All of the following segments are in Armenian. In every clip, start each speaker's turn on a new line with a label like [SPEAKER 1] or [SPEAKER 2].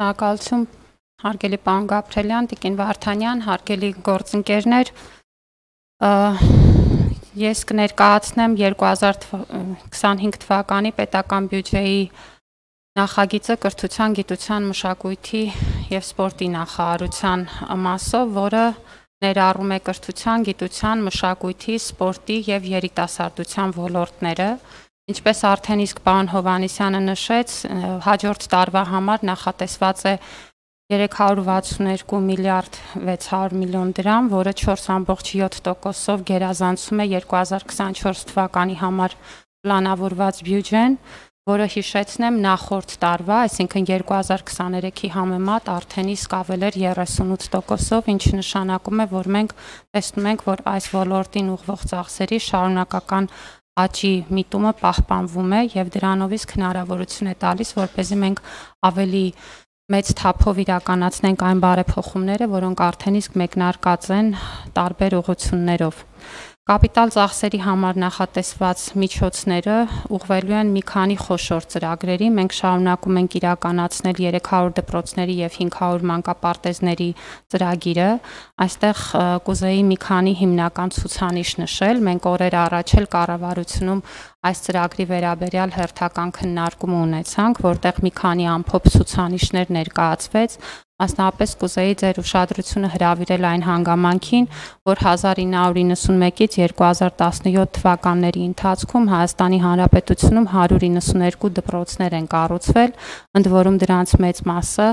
[SPEAKER 1] Շնորհակալություն, հարգելի պարոն Գաբրելյան, Տիկին Վարդանյան, հարգելի գործընկերներ, ես կներկայացնեմ 2025 թվականի պետական բյուջեի նախագիծը կրթության, գիտության, մշակույթի և սպորտի նախարարության մասով, որը ներառում է կրթության, գիտության, մշակույթի, սպորտի և երիտասարդության ոլորտները։ Ինչպես արդեն իսկ պարոն Հովհաննիսյանը նշեց, հաջորդ տարվա համար նախատեսված է 362 միլիարդ 600 միլիոն դրամ, որը 4.7%-ով գերազանցում է 2024 թվականի համար պլանավորված բյուջեն, որը հիշեցնեմ նախորդ տարվա, այսինքն 2023-ի համեմատ արդեն իսկ ավել էր 38%-ով, ինչը նշանակում է, որ մենք տեսնում ենք, որ այս ոլորտին ուղղվող ծախսերի շարունակական աճի միտումը պահպանվում է և դրանով իսկ հնարավորություն է տալիս, որպեսզի մենք ավելի մեծ թափով իրականացնենք այն բարեփոխումները, որոնք արդեն իսկ մեկնարկած են տարբեր ուղղություններով։ Կապիտալ ծախսերի համար նախատեսված միջոցները ուղղվելու են մի քանի խոշոր ծրագրերի։ Մենք շարունակում ենք իրականացնել 300 դպրոցների և 500 մանկապարտեզների ծրագիրը։ Այստեղ կուզեի մի քանի հիմնական ցուցանիշ նշել։ Մենք օրեր առաջ էլ կառավարությունում այս ծրագրի վերաբերյալ հերթական քննարկում ունեցանք, որտեղ մի քանի ամփոփ ցուցանիշներ ներկայացվեց։ Մասնավորապես կուզեի ձեր ուշադրությունը հրավիրել այն հանգամանքին, որ 1991-ից 2017 թվականների ընթացքում Հայաստանի Հանրապետությունում 192 դպրոցներ են կառուցվել, ընդ որում դրանց մեծ մասը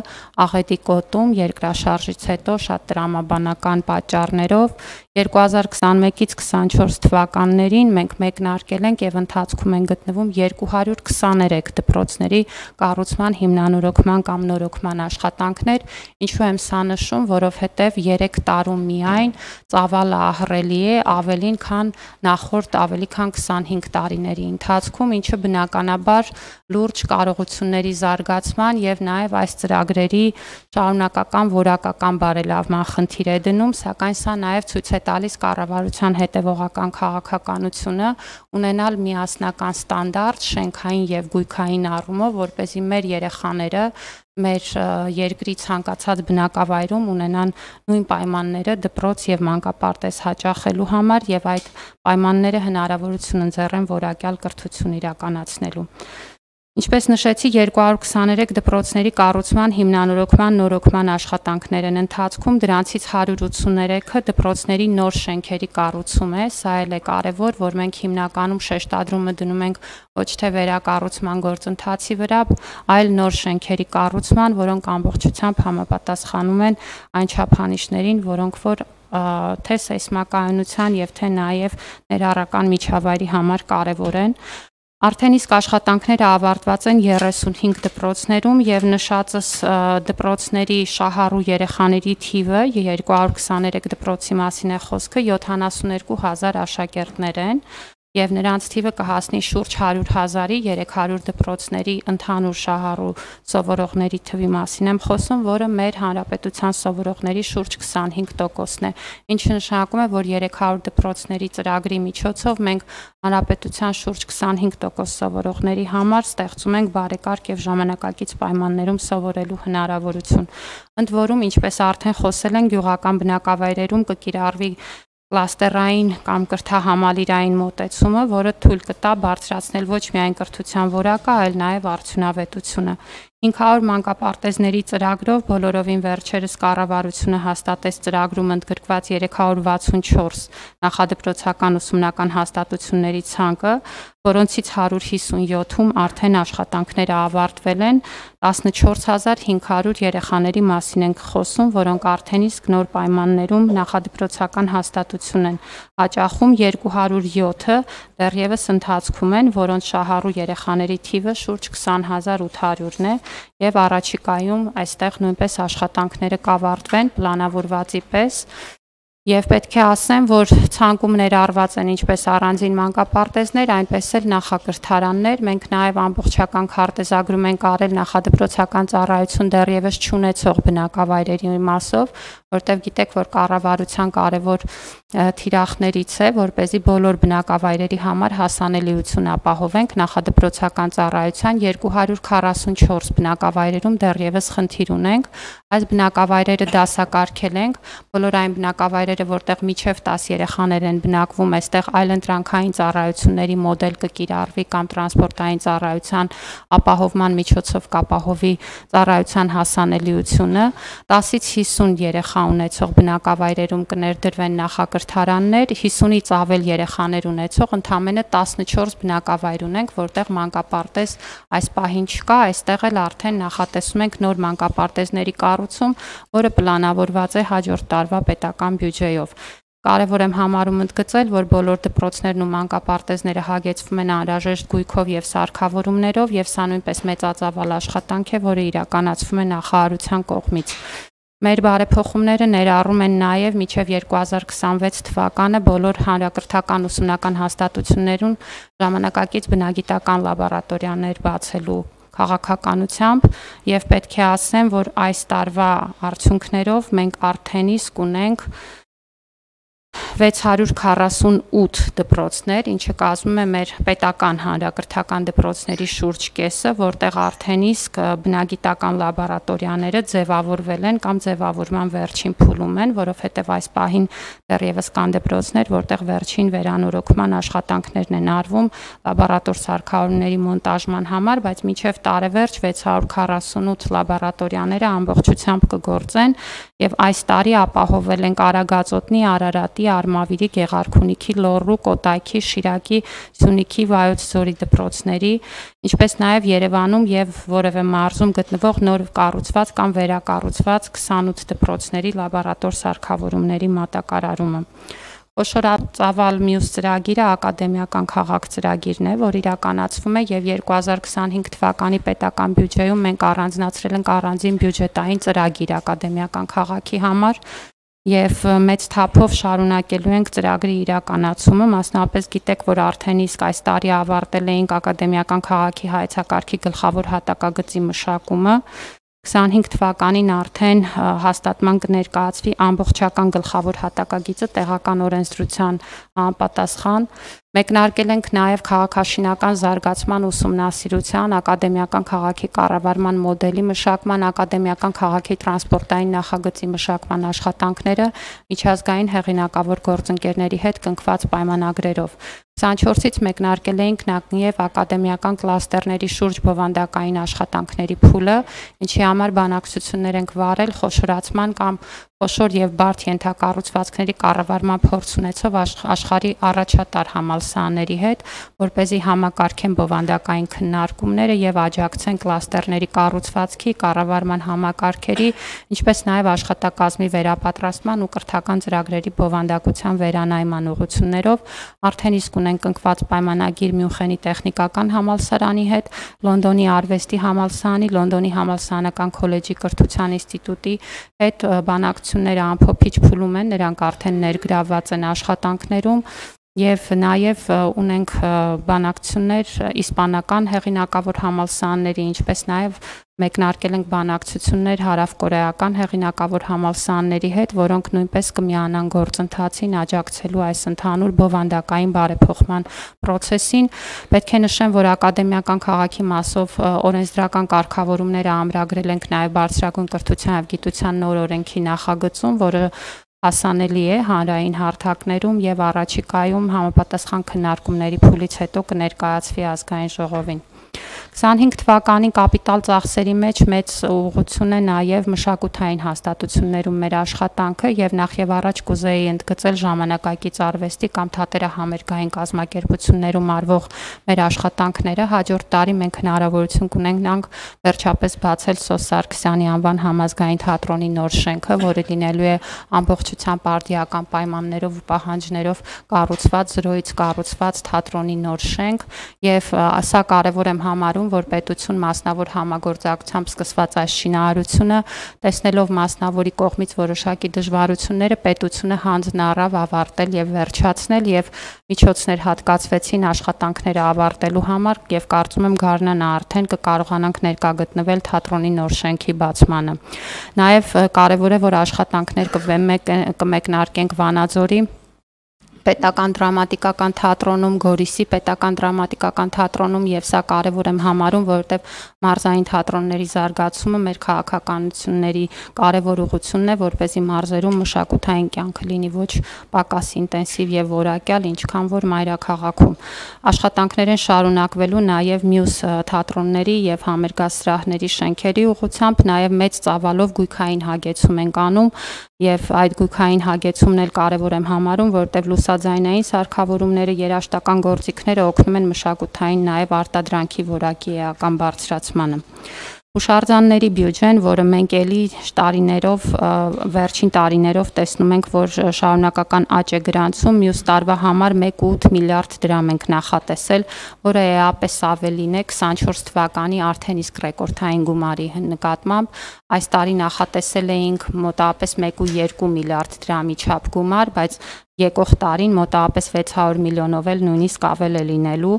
[SPEAKER 1] Աղետի գոտում երկրաշարժից հետո շատ տրամաբանական պատճառներով 2021-ից 24 թվականներին մենք մեկնարկել ենք և ընթացքում են գտնվում 223 դպրոցների կառուցման հիմնանորոգման կամ նորոգման աշխատանքներ, ինչու եմ սա նշում, որովհետև 3 տարում միայն ծավալը ահռելի է, ավելին քան նախորդ ավելի քան 25 տարիների ընթացքում, ինչը բնականաբար լուրջ կարողությունների զարգացման և նաև այս ծրագրերի շարունակական որակական բարելավման խնդիր է դնում, սակայն սա նաև ցույց է տալիս կառավարության հետևողական քաղաքականությունը ունենալ միասնական ստանդարտ շենքային և գույքային առումով, որպեսզի մեր երեխաները մեր երկրի ցանկացած բնակավայրում ունենան նույն պայմանները դպրոց և մանկապարտեզ հաճախելու համար և այդ պայմանները հնարավորություն ընձեռեն որակյալ կրթություն իրականացնելու։ Ինչպես նշեցի, 223 դպրոցների կառուցման հիմնանորոգման նորոգման աշխատանքներ են ընթացքում, դրանցից 183-ը դպրոցների նոր շենքերի կառուցում է, սա էլ է կարևոր, որ մենք հիմնականում շեշտադրումը դնում ենք ոչ թե վերակառուցման գործընթացի վրա, այլ նոր շենքերի կառուցման, որոնք ամբողջությամբ համապատասխանում են այն չափանիշներին, որոնք որ թե սեյսմակայունության և թե նաև ներառական միջավայրի համար կարևոր են։ Արդեն իսկ աշխատանքները ավարտված են 35 դպրոցներում և նշածս դպրոցների շահառու երեխաների թիվը 223 դպրոցի մասին է խոսքը 72,000 աշակերտներ են և նրանց թիվը կհասնի շուրջ 100,000-ի, 300 դպրոցների ընդհանուր շահառու սովորողների թվի մասին եմ խոսում, որը մեր հանրապետության սովորողների շուրջ 25%-ն է, ինչը նշանակում է, որ 300 դպրոցների ծրագրի միջոցով մենք հանրապետության շուրջ 25% սովորողների համար ստեղծում ենք բարեկարգ և ժամանակակից պայմաններում սովորելու հնարավորություն։ Ընդ որում, ինչպես արդեն խոսել են, գյուղական բնակավայրերում կկիրառվի կլաստերային կամ կրթահամալիրային մոտեցումը, որը թույլ կտա բարձրացնել ոչ միայն կրթության որակը, այլ նաև արդյունավետությունը։ 500 մանկապարտեզների ծրագրով բոլորովին վերջերս կառավարությունը հաստատեց ծրագրում ընդգրկված 364 նախադպրոցական ուսումնական հաստատությունների ցանկը, որոնցից 157-ում արդեն աշխատանքները ավարտվել են, 14500 երեխաների մասին ենք խոսում, որոնք արդեն իսկ նոր պայմաններում նախադպրոցական հաստատություն են հաճախում, 207-ը դեռևս ընթացքում են, որոնց շահառու երեխաների թիվը շուրջ 20,800-ն է և առաջիկայում այստեղ նույնպես աշխատանքները կավարտվեն պլանավորվածի պես Եվ պետք է ասեմ, որ ցանկում ներառված են ինչպես առանձին մանկապարտեզներ, այնպես էլ նախակրթարաններ։ Մենք նաև ամբողջական քարտեզագրում ենք արել նախադպրոցական ծառայություն դեռևս չունեցող բնակավայրերի մասով, որտեղ գիտեք, որ կառավարության կարևոր թիրախներից է, որպեսզի բոլոր բնակավայրերի համար հասանելիություն ապահովենք նախադպրոցական ծառայության 244 բնակավայրերում դեռևս խնդիր ունենք։ Այս բնակավայրերը դասակարգել ենք, բոլոր այն բնակավայրերը, որտեղ միջև 10 երեխաներ են բնակվում, այստեղ այլընտրանքային ծառայությունների մոդել կկիրառվի կամ տրանսպորտային ծառայության ապահովման միջոցով կապահովի ծառայության հասանելիությունը, 10-ից 50 երեխա ունեցող բնակավայրերում կներդրվեն նախակրթարաններ, 50-ից ավել երեխաներ ունեցող ընդամենը 14 բնակավայր ունենք, որտեղ մանկապարտեզ այս պահին չկա, այստեղ էլ արդեն նախատեսում ենք նոր մանկապարտեզների կառուցում, որը պլանավորված է հաջորդ տարվա պետական բյուջեով։ Կարևոր եմ համարում ընդգծել, որ բոլոր դպրոցներն ու մանկապարտեզները հագեցվում են անհրաժեշտ գույքով եւ սարքավորումներով, եւ սա նույնպես մեծածավալ աշխատանք է, որը իրականացվում է նախարարության կողմից։ Մեր բարեփոխումները ներառում են նաև մինչև 2026 թվականը բոլոր հանրակրթական ուսումնական հաստատություններում ժամանակակից բնագիտական լաբորատորիաներ բացելու քաղաքականությամբ եւ պետք է ասեմ, որ այս տարվա արդյունքներով մենք արդեն իսկ ունենք 648 դպրոցներ, ինչը կազմում է մեր պետական հանրակրթական դպրոցների շուրջ կեսը, որտեղ արդեն իսկ բնագիտական լաբորատորիաները ձևավորվել են կամ ձևավորման վերջին փուլում են, որովհետև այս պահին դեռևս կան դպրոցներ, որտեղ վերջին վերանորոգման աշխատանքներն են արվում լաբորատոր սարքավորումների մոնտաժման համար, բայց մինչև տարեվերջ 648 լաբորատորիաները ամբողջությամբ կգործեն եւ այս տարի ապահովել են Արագածոտնի, Արարատի, Արմավիրի, Գեղարքունիքի, Լոռու, Կոտայքի, Շիրակի, Սյունիքի, Վայոց ձորի դպրոցների, ինչպես նաև Երևանում եւ որևէ մարզում գտնվող նոր կառուցված կամ վերակառուցված 28 դպրոցների լաբորատոր սարքավորումների մատակարարումը։ Խոշորածավալ մյուս ծրագիրը ակադեմիական քաղաք ծրագիրն է, որ իրականացվում է եւ 2025 թվականի պետական բյուջեում մենք առանձնացրել ենք առանձին բյուջետային ծրագիր ակադեմիական քաղաքի համար եւ մեծ թափով շարունակելու ենք ծրագրի իրականացումը, մասնավորապես գիտեք, որ արդեն իսկ այս տարի ավարտել էինք ակադեմիական քաղաքի հայեցակարգի գլխավոր հատակագծի մշակումը, 25 թվականին արդեն հաստատման կներկայացվի ամբողջական գլխավոր հատակագիծը տեղական օրենսդրության համապատասխան։ Մեկնարկել ենք նաև քաղաքաշինական զարգացման ուսումնասիրության, ակադեմիական քաղաքի կառավարման մոդելի մշակման, ակադեմիական քաղաքի տրանսպորտային նախագծի մշակման աշխատանքները միջազգային հեղինակավոր գործընկերների հետ կնքված պայմանագրերով։ 24-ից մեկնարկել էինք նաև ակադեմիական կլաստերների շուրջ բովանդակային աշխատանքների փուլը, ինչի համար բանակցություններ ենք վարել խոշորացման կամ խոշոր եւ բարդ ենթակառուցվածքների կառավարման փորձ ունեցող աշխարհի առաջատար համալսարանների հետ, որպեսզի համակարգեն բովանդակային քննարկումները եւ աջակցեն կլաստերների կառուցվածքի, կառավարման համակարգերի, ինչպես նաեւ աշխատակազմի վերապատրաստման ու կրթական ծրագրերի բովանդակության վերանայման ուղղություններով արդեն իսկ ունենք կնքված պայմանագիր Մյունխենի տեխնիկական համալսարանի հետ, Լոնդոնի արվեստի համալսարանի, Լոնդոնի համալսարանական քոլեջի կրթության ինստիտուտի հետ բանակցությունները ամփոփիչ փուլում են, նրանք արդեն ներգրավված են աշխատանքներում եւ նաեւ ունենք բանակցություններ իսպանական հեղինակավոր համալսարանների, ինչպես նաեւ մեկնարկել ենք բանակցություններ հարավկորեական հեղինակավոր համալսարանների հետ, որոնք նույնպես կմիանան գործընթացին աջակցելու այս ընդհանուր բովանդակային բարեփոխման process-ին։ Պետք է նշեմ, որ ակադեմիական քաղաքի մասով օրենսդրական կարգավորումները ամրագրել ենք նաև բարձրագույն կրթության եւ գիտության նոր օրենքի նախագծում, որը հասանելի է հանրային հարթակներում եւ առաջիկայում համապատասխան քննարկումների փուլից հետո կներկայացվի ազգային ժողովին։ 25 թվականին կապիտալ ծախսերի մեջ մեծ ուղղություն է նաև մշակութային հաստատություններում մեր աշխատանքը եւ նախ եւ առաջ կուզեի ընդգծել ժամանակակից արվեստի կամ թատերահամերգային կազմակերպություններում արվող մեր աշխատանքները։ Հաջորդ տարի մենք հնարավորություն կունենանք վերջապես բացել Սոս Սարգսյանի անվան համազգային թատրոնի նոր շենքը, որը լինելու է ամբողջությամբ արդիական պայմաններով ու պահանջներով կառուցված, զրոյից կառուցված թատրոնի նոր շենք եւ սա կարեւոր եմ եմ համարում, որ պետություն մասնավոր համագործակցությամբ սկսված այս շինարարությունը, տեսնելով մասնավորի կողմից որոշակի դժվարությունները, պետությունը հանձն առավ ավարտել եւ վերջացնել եւ միջոցներ հատկացվեցին աշխատանքները ավարտելու համար եւ կարծում եմ գարնանը արդեն կկարողանանք ներկա գտնվել թատրոնի նոր շենքի բացմանը։ Նաեւ կարեւոր է, որ աշխատանքներ կմեկնարկենք Վանաձորի պետական դրամատիկական թատրոնում, Գորիսի պետական դրամատիկական թատրոնում եւ սա կարեւոր եմ համարում, որովհետեւ մարզային թատրոնների զարգացումը մեր քաղաքականությունների կարեւոր ուղղությունն է, որպեսզի մարզերում մշակութային կյանքը լինի ոչ պակաս ինտենսիվ եւ որակյալ, ինչքան որ մայրաքաղաքում։ Աշխատանքներ են շարունակվելու նաեւ մյուս թատրոնների եւ համերգասրահների շենքերի ուղղությամբ, նաեւ մեծ ծավալով գույքային հագեցում ենք անում եւ այդ գույքային հագեցումն էլ կարեւոր եմ համարում, որովհետեւ լուսաձայնային սարքավորումները, երաժշտական գործիքները օգնում են մշակութային նաեւ արտադրանքի որակի էական բարձրացմանը։ Հուշարձանների բյուջեն, որը մենք էլի տարիներով, վերջին տարիներով տեսնում ենք, որ շարունակական աճ է գրանցում, մյուս տարվա համար 1.8 միլիարդ դրամ ենք նախատեսել, որը էապես ավելին է 24 թվականի արդեն իսկ ռեկորդային գումարի նկատմամբ։ Այս տարի նախատեսել էինք մոտավորապես 1.2 միլիարդ դրամի չափ գումար, բայց եկող տարին մոտավորապես 600 միլիոնով էլ նույնիսկ ավել է լինելու։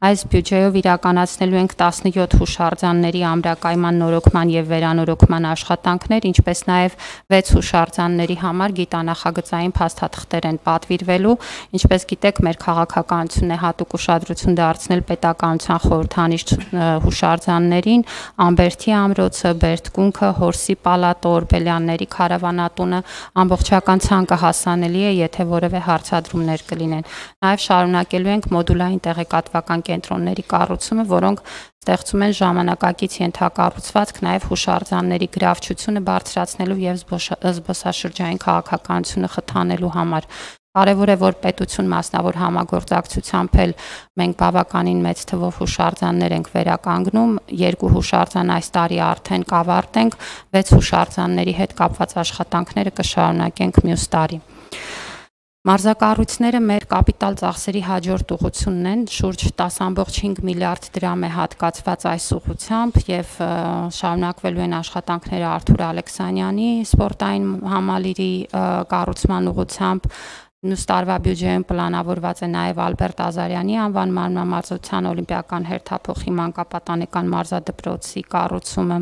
[SPEAKER 1] Այս բյուջեով իրականացնելու ենք 17 հուշարձանների ամրակայման նորոգման եւ վերանորոգման աշխատանքներ, ինչպես նաեւ 6 հուշարձանների համար գիտանախագծային փաստաթղթեր են պատվիրվելու։ Ինչպես գիտեք, մեր քաղաքականությունն է հատուկ ուշադրություն դարձնել պետականության խորհրդանիշ հուշարձաններին, Ամբերդի ամրոցը, Բերդկունքը, Հորսի պալատը, Օրբելյանների քարավանատունը, ամբողջական ցանկը հասանելի է, եթե որևէ հարցադրումներ կլինեն։ Նաև շարունակելու ենք մոդուլային տեղեկատվական կենտրոնների կառուցումը, որոնք ստեղծում են ժամանակակից ենթակառուցվածք նաև հուշարձանների գրավչությունը բարձրացնելու եւ զբոսաշրջային քաղաքականությունը խթանելու համար։ Կարևոր է, որ պետություն մասնավոր համագործակցությամբ էլ մենք բավականին մեծ թվով հուշարձաններ ենք վերականգնում, 2 հուշարձան այս տարի արդեն կավարտենք, 6 հուշարձանների հետ կապված աշխատանքները կշարունակենք մյուս տարի։ Մարզակառույցները մեր կապիտալ ծախսերի հաջորդ ուղղությունն են, շուրջ 10.5 միլիարդ դրամ է հատկացված այս ուղղությամբ եւ շարունակվելու են աշխատանքները Արթուր Ալեքսանյանի սպորտային համալիրի կառուցման ուղղությամբ։ Մյուս տարվա բյուջեում պլանավորված է նաև Ալբերտ Ազարյանի անվան մարմնամարզության օլիմպիական հերթափոխի մանկապատանեկան մարզադպրոցի կառուցումը,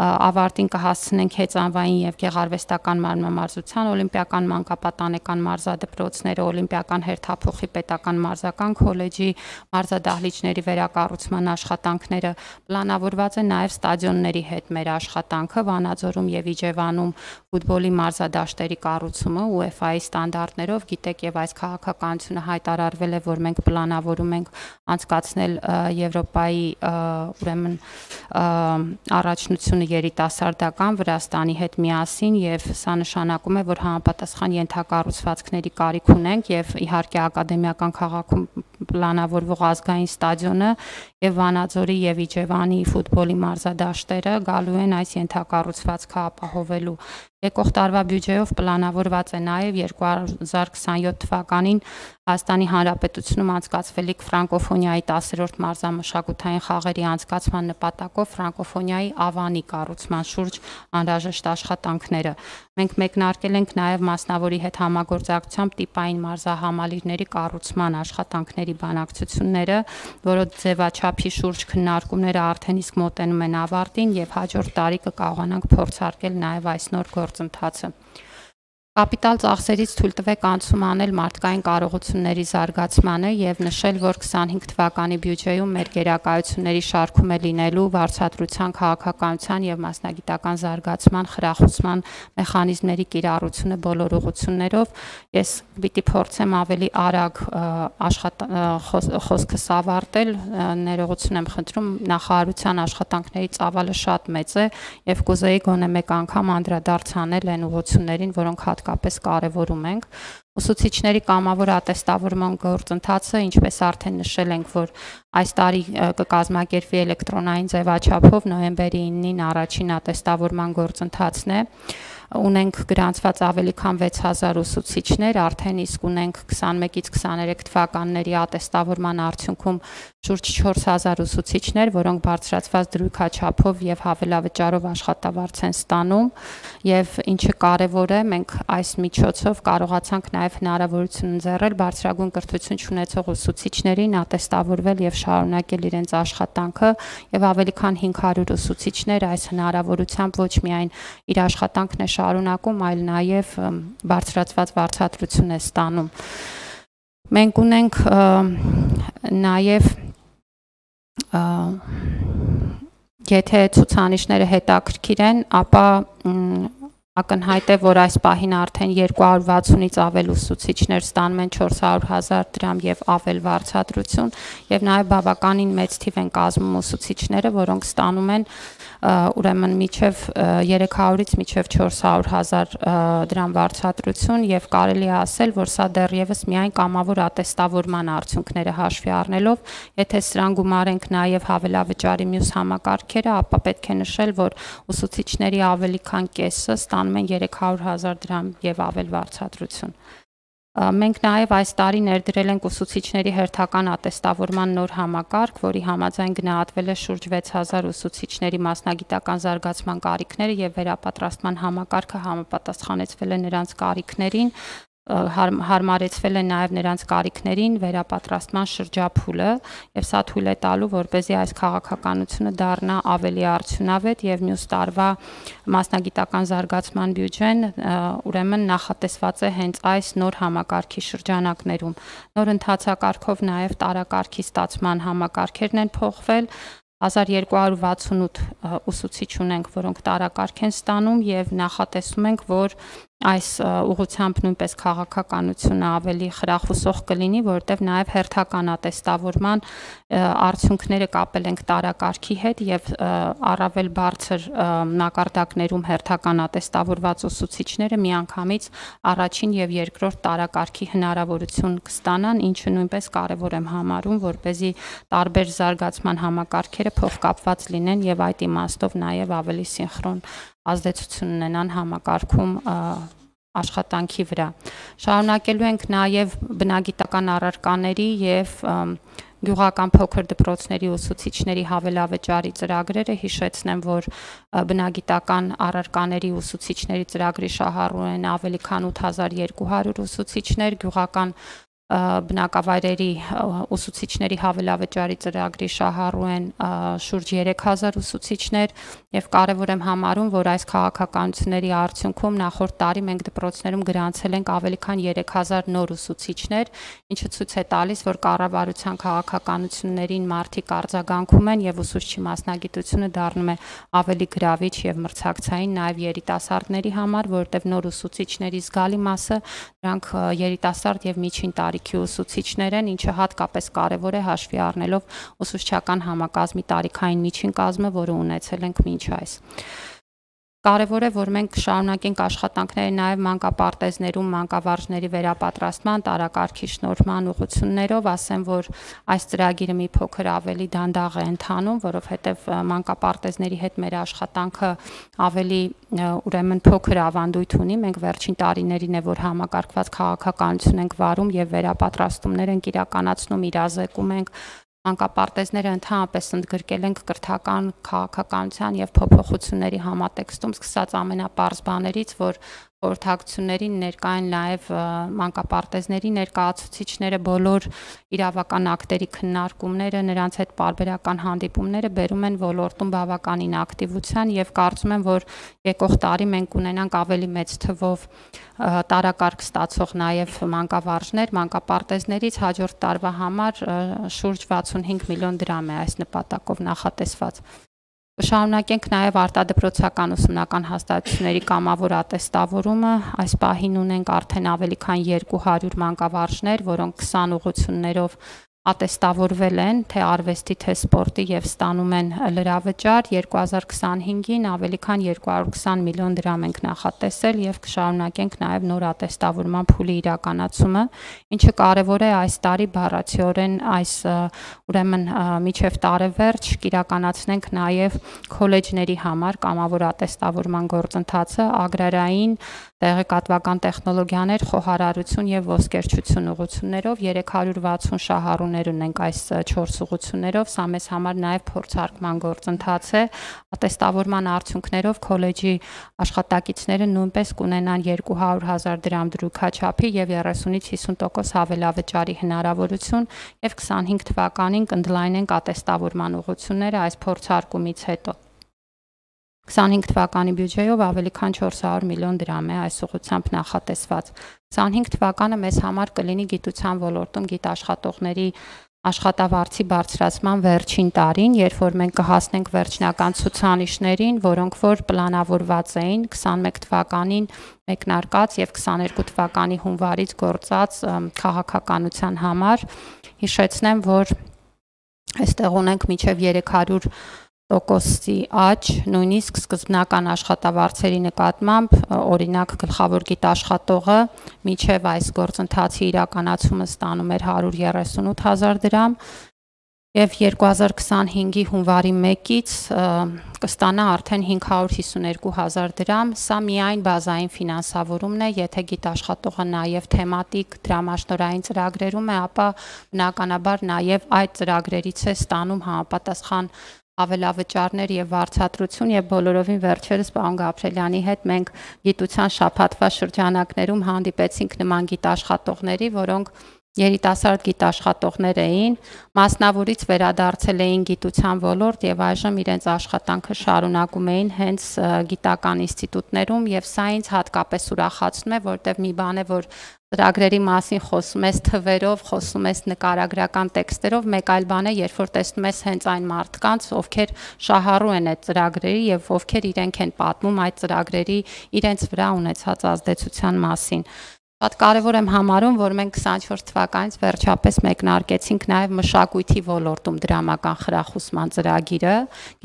[SPEAKER 1] ավարտին կհասցնենք հեծանվային եւ գեղարվեստական մարմնամարզության օլիմպիական մանկապատանեկան մարզադպրոցները, օլիմպիական հերթափոխի պետական մարզական քոլեջի մարզադահլիճների վերակառուցման աշխատանքները, պլանավորված է նաև ստադիոնների հետ մեր աշխատանքը Վանաձորում եւ Իջևանում ֆուտբոլի մարզադաշտերի կառուցումը UEFA-ի ստանդարտներով, գիտեք, եւ այս քաղաքականությունը հայտարարվել է, որ մենք պլանավորում ենք անցկացնել Եվրոպայի ուրեմն առաջնությունը երիտասարդական Վրաստանի հետ միասին եւ սա նշանակում է, որ համապատասխան ենթակառուցվածքների կարիք ունենք եւ իհարկե ակադեմիական քաղաքում պլանավորվող ազգային ստադիոնը եւ Վանաձորի եւ Իջևանի ֆուտբոլի մարզադաշտերը գալու են այս ենթակառուցվածքը ապահովելու։ Եկող տարվա բյուջեով պլանավորված է նաև 2027 թվականին Հայաստանի Հանրապետությունում անցկացվելիք ֆրանկոֆոնիայի 10-րդ մարզամշակութային խաղերի անցկացման նպատակով ֆրանկոֆոնիայի ավանի կառուցման շուրջ անհրաժեշտ աշխատանքները։ Մենք մեկնարկել ենք նաև մասնավորի հետ համագործակցությամբ տիպային մարզահամալիրների կառուցման աշխատանքների բանակցությունները, որոնց ձևաչափի շուրջ քննարկումները արդեն իսկ մոտենում են ավարտին եւ հաջորդ տարի կկարողանանք փորձարկել նաև այս նոր գործընթացը։ Կապիտալ ծախսերից թույլ տվեք անցում անել մարդկային կարողությունների զարգացմանը եւ նշել, որ 25 թվականի բյուջեում մեր գերակայությունների շարքում է լինելու վարձատրության, քաղաքականության եւ մասնագիտական զարգացման, խրախուսման մեխանիզմների կիրառությունը բոլոր ուղղություններով։ Ես պիտի փորձեմ ավելի արագ խոսքս ավարտել, ներողություն եմ խնդրում, նախարարության աշխատանքների ծավալը շատ մեծ է եւ կուզեի գոնե մեկ անգամ անդրադարձ անել այն ուղղություններին, որոնք հատկապես կարևորում ենք։ Ուսուցիչների կամավոր ատեստավորման գործընթացը, ինչպես արդեն նշել ենք, որ այս տարի կկազմակերպվի էլեկտրոնային ձևաչափով նոյեմբերի 9-ին առաջին ատեստավորման գործընթացն է։ ունենք գրանցված ավելի քան 6000 ուսուցիչներ, արդեն իսկ ունենք 21-ից 23 թվականների ատեստավորման արդյունքում շուրջ 4000 ուսուցիչներ, որոնք բարձրացված դրույքաչափով եւ հավելավճարով աշխատավարձ են ստանում, եւ ինչը կարեւոր է, մենք այս միջոցով կարողացանք նաեւ հնարավորություն ընձեռել բարձրագույն կրթություն ունեցող ուսուցիչներին ատեստավորվել եւ շարունակել իրենց աշխատանքը, եւ ավելի քան 500 ուսուցիչներ այս հնարավորությամբ ոչ միայն իր աշխատանքն է շարունակում, այլ նաև բարձրացված վարձատրություն է ստանում։ Մենք ունենք նաև եթե ցուցանիշները հետաքրքիր են, ապա ակնհայտ է, որ այս պահին արդեն 260-ից ավել ուսուցիչներ ստանում են 400,000 դրամ եւ ավել վարձատրություն, եւ նաեւ բավականին մեծ թիվ են կազմում ուսուցիչները, որոնք ստանում են ուրեմն միջև 300-ից միջև 400,000 դրամ վարձատրություն, եւ կարելի է ասել, որ սա դեռևս միայն կամավոր ատեստավորման արդյունքները հաշվի առնելով, եթե սրան գումարենք նաեւ հավելավճարի մյուս համակարգերը, ապա պետք է նշել, որ ուսուցիչների ավելի քան կեսը ստանում են 300,000 դրամ եւ ավել վարձատրություն։ Մենք նաև այս տարի ներդրել ենք ուսուցիչների հերթական ատեստավորման նոր համակարգ, որի համաձայն գնահատվել է շուրջ 6000 ուսուցիչների մասնագիտական զարգացման կարիքները եւ վերապատրաստման համակարգը համապատասխանեցվել է նրանց կարիքներին, հարմարեցվել է նաև նրանց կարիքներին վերապատրաստման շրջափուլը, եւ սա թույլ է տալու, որպեսզի այս քաղաքականությունը դառնա ավելի արդյունավետ եւ մյուս տարվա մասնագիտական զարգացման բյուջեն ուրեմն նախատեսված է հենց այս նոր համակարգի շրջանակներում։ Նոր ընթացակարգով նաև տարակարգի ստացման համակարգերն են փոխվել, 1268 ուսուցիչ ունենք, որոնք տարակարգ են ստանում եւ նախատեսում ենք, որ այս ուղղությամբ նույնպես քաղաքականությունը ավելի խրախուսող կլինի, որտեղ նաև հերթական ատեստավորման արդյունքները կապել ենք տարակարգի հետ եւ առավել բարձր մակարդակներում հերթական ատեստավորված ուսուցիչները միանգամից առաջին եւ երկրորդ տարակարգի հնարավորություն կստանան, ինչը նույնպես կարեւոր եմ համարում, որպեսզի տարբեր զարգացման համակարգերը փոխկապված լինեն եւ այդ իմաստով նաեւ ավելի սինխրոն ազդեցություն ունենան համակարգում աշխատանքի վրա։ Շարունակելու ենք նաև բնագիտական առարկաների եւ գյուղական փոքր դպրոցների ուսուցիչների հավելավճարի ծրագրերը, հիշեցնեմ, որ բնագիտական առարկաների ուսուցիչների ծրագրի շահառու են ավելի քան 8200 ուսուցիչներ, գյուղական բնակավայրերի ուսուցիչների հավելավճարի ծրագրի շահառու են շուրջ 3000 ուսուցիչներ եւ կարեւոր եմ համարում, որ այս քաղաքականությունների արդյունքում նախորդ տարի մենք դպրոցներում գրանցել ենք ավելի քան 3000 նոր ուսուցիչներ, ինչը ցույց է տալիս, որ կառավարության քաղաքականություններին մարդիկ արձագանքում են եւ ուսուցչի մասնագիտությունը դառնում է ավելի գրավիչ եւ մրցակցային նաեւ երիտասարդների համար, որտեղ նոր ուսուցիչների զգալի մասը դրանք երիտասարդ եւ միջին տարիքի ուսուցիչներ են, ինչը հատկապես կարևոր է հաշվի առնելով ուսուցչական համակազմի տարիքային միջին կազմը, որը ունեցել ենք մինչ այս։ Կարևոր է, որ մենք շարունակենք աշխատանքները նաև մանկապարտեզներում մանկավարժների վերապատրաստման, տարակարգի շնորհման ուղղություններով, ասեմ, որ այս ծրագիրը մի փոքր ավելի դանդաղ է ընթանում, որովհետև մանկապարտեզների հետ մեր աշխատանքը ավելի ուրեմն փոքր ավանդույթ ունի, մենք վերջին տարիներին է, որ համակարգված քաղաքականություն ենք վարում եւ վերապատրաստումներ ենք իրականացնում, իրազեկում ենք մանկապարտեզները ընդհանրապես ընդգրկել ենք կրթական քաղաքականության եւ փոփոխությունների համատեքստում, սկսած ամենապարզ բաներից, որ խորհրդակցություններին ներկա են նաև մանկապարտեզների ներկայացուցիչները, բոլոր իրավական ակտերի քննարկումները, նրանց հետ պարբերական հանդիպումները բերում են ոլորտում բավականին ակտիվության եւ կարծում եմ, որ եկող տարի մենք ունենանք ավելի մեծ թվով տարակարգ ստացող նաև մանկավարժներ, մանկապարտեզներից հաջորդ տարվա համար շուրջ 65 միլիոն դրամ է այս նպատակով նախատեսված։ Շարունակենք նաև արտադպրոցական ուսումնական հաստատությունների կամավոր ատեստավորումը, այս պահին ունենք արդեն ավելի քան 200 մանկավարժներ, որոնք 20 ուղղություններով ատեստավորվել են թե արվեստի, թե սպորտի եւ ստանում են լրավճար 2025-ին ավելի քան 220 միլիոն դրամ ենք նախատեսել եւ կշարունակենք նաեւ նոր ատեստավորման փուլի իրականացումը, ինչը կարեւոր է այս տարի բառացիորեն այս ուրեմն միջև տարեվերջ կիրականացնենք նաեւ քոլեջների համար կամավոր ատեստավորման գործընթացը, ագրարային, տեղեկատվական տեխնոլոգիաներ, խոհարարություն եւ ոսկերչություն ուղղություններով 360 շահառուներ ունենք այս 4 ուղղություններով, սա մեզ համար նաեւ փորձարկման գործընթաց է, ատեստավորման արդյունքներով քոլեջի աշխատակիցները նույնպես կունենան 200,000 դրամ դրույքաչափի եւ 30-ից 50% հավելավճարի հնարավորություն եւ 25 թվականին կընդլայնենք ատեստավորման ուղղությունները այս փորձարկումից հետո 25 թվականի բյուջեով ավելի քան 400 միլիոն դրամ է այս ուղղությամբ նախատեսված։ 25 թվականը մեզ համար կլինի գիտության ոլորտում գիտաշխատողների աշխատավարձի բարձրացման վերջին տարին, երբ որ մենք կհասնենք վերջնական ցուցանիշներին, որոնք որ պլանավորված էին 21 թվականին մեկնարկած եւ 22 թվականի հունվարից գործած քաղաքականության համար։ Հիշեցնեմ, որ այստեղ ունենք մինչեւ 300%-ի աճ, նույնիսկ սկզբնական աշխատավարձերի նկատմամբ, օրինակ գլխավոր գիտաշխատողը մինչև այս գործընթացի իրականացումը ստանում էր 138,000 դրամ եւ 2025-ի հունվարի 1-ից կստանա արդեն 552,000 դրամ, սա միայն բազային ֆինանսավորումն է, եթե գիտաշխատողը նաեւ թեմատիկ դրամաշնորհային ծրագրերում է, ապա բնականաբար նաեւ այդ ծրագրերից է ստանում համապատասխան ավելավճարներ եւ վարձատրություն եւ բոլորովին վերջերս պարոն Գաբրելյանի հետ մենք գիտության շաբաթվա շրջանակներում հանդիպեցինք նման գիտաշխատողների, որոնք երիտասարդ գիտաշխատողներ էին, մասնավորից վերադարձել էին գիտության ոլորտ եւ այժմ իրենց աշխատանքը շարունակում էին հենց գիտական ինստիտուտներում եւ սա ինձ հատկապես ուրախացնում է, որտեղ մի բան է, որ ծրագրերի մասին խոսում ես թվերով, խոսում ես նկարագրական տեքստերով, մեկ այլ բան է, երբ որ տեսնում ես հենց այն մարդկանց, ովքեր շահառու են այդ ծրագրերի եւ ովքեր իրենք են պատմում այդ ծրագրերի իրենց վրա ունեցած ազդեցության մասին։ Շատ կարևոր եմ համարում, որ մենք 24 թվականից վերջապես մեկնարկեցինք նաև մշակույթի ոլորտում դրամական խրախուսման ծրագիրը։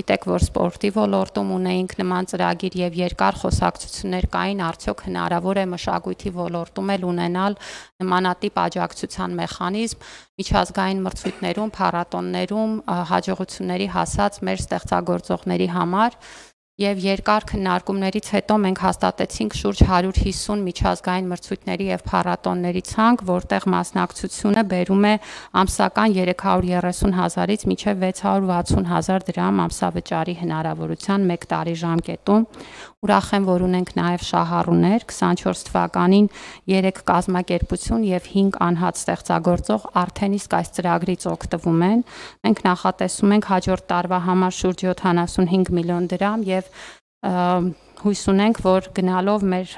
[SPEAKER 1] Գիտեք, որ սպորտի ոլորտում ունեինք նման ծրագիր եւ երկար խոսակցություններ կային, արդյոք հնարավոր է մշակույթի ոլորտում էլ ունենալ նմանատիպ աջակցության մեխանիզմ միջազգային մրցույթներում, փառատոններում հաջողությունների հասած մեր ստեղծագործողների համար։ Եվ երկար քննարկումներից հետո մենք հաստատեցինք շուրջ 150 միջազգային մրցույթների եւ փառատոնների ցանկ, որտեղ մասնակցությունը բերում է ամսական 330,000-ից մինչեւ 660,000 դրամ ամսավճարի հնարավորության 1 տարի ժամկետում։ Ուրախ եմ, որ ունենք նաեւ շահառուներ 24 թվականին 3 կազմակերպություն եւ 5 անհատ ստեղծագործող արդեն իսկ այս ծրագրից օգտվում են։ Մենք նախատեսում ենք հաջորդ տարվա համար շուրջ 75 միլիոն դրամ եւ հույս ունենք, որ գնալով մեր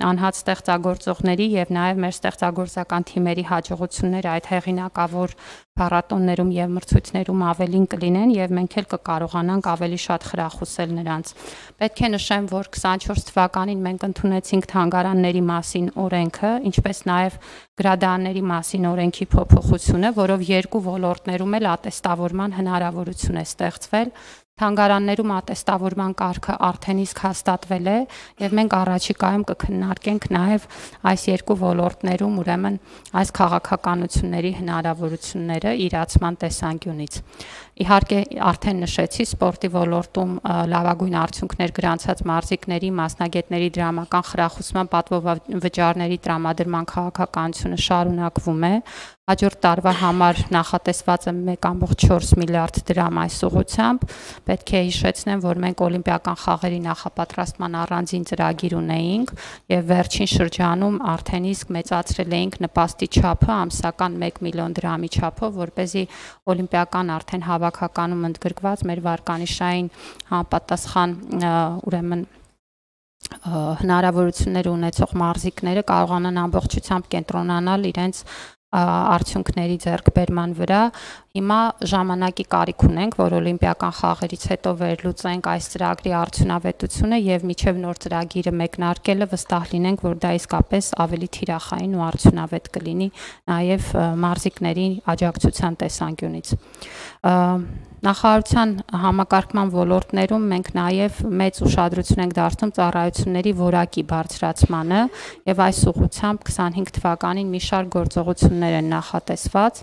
[SPEAKER 1] անհատ ստեղծագործողների եւ նաեւ մեր ստեղծագործական թիմերի հաջողությունները այդ հեղինակավոր փառատոններում եւ մրցույթներում ավելին կլինեն եւ մենք էլ կկարողանանք ավելի շատ խրախուսել նրանց։ Պետք է նշեմ, որ 24 թվականին մենք ընդունեցինք թանգարանների մասին օրենքը, ինչպես նաեւ գրադարանների մասին օրենքի փոփոխությունը, որով երկու ոլորտներում էլ ատեստավորման հնարավորություն է ստեղծվել։ Թանգարաններում ատեստավորման կարգը արդեն իսկ հաստատվել է եւ մենք առաջիկայում կքննարկենք նաեւ այս երկու ոլորտներում ուրեմն այս քաղաքականությունների հնարավորությունները իրացման տեսանկյունից։ Իհարկե արդեն նշեցի սպորտի ոլորտում լավագույն արդյունքներ գրանցած մարզիկների, մասնագետների դրամական խրախուսման պատվովճարների տրամադրման քաղաքականությունը շարունակվում է։ Հաջորդ տարվա համար նախատեսված է 1.4 միլիարդ դրամ այս ուղղությամբ։ Պետք է հիշեցնեմ, որ մենք օլիմպիական խաղերի նախապատրաստման առանձին ծրագիր ունեինք եւ վերջին շրջանում արդեն իսկ մեծացրել էինք նպաստի չափը ամսական 1 միլիոն դրամի չափով, որպեսզի օլիմպիական արդեն հավաքականում ընդգրկված մեր վարկանիշային համապատասխան ուրեմն հնարավորություններ ունեցող մարզիկները կարողանան ամբողջությամբ կենտրոնանալ իրենց արդյունքների ձեռքբերման վրա։ Հիմա ժամանակի կարիք ունենք, որ օլիմպիական խաղերից հետո վերլուծենք այս ծրագրի արդյունավետությունը եւ միջև նոր ծրագիրը մեկնարկելը վստահ լինենք, որ դա իսկապես ավելի թիրախային ու արդյունավետ կլինի նաեւ մարզիկների աջակցության տեսանկյունից։ Նախարարության համակարգման ոլորտներում մենք նաև մեծ ուշադրություն ենք դարձնում ծառայությունների որակի բարձրացմանը եւ այս ուղղությամբ 25 թվականին մի շարք գործողություններ են նախատեսված,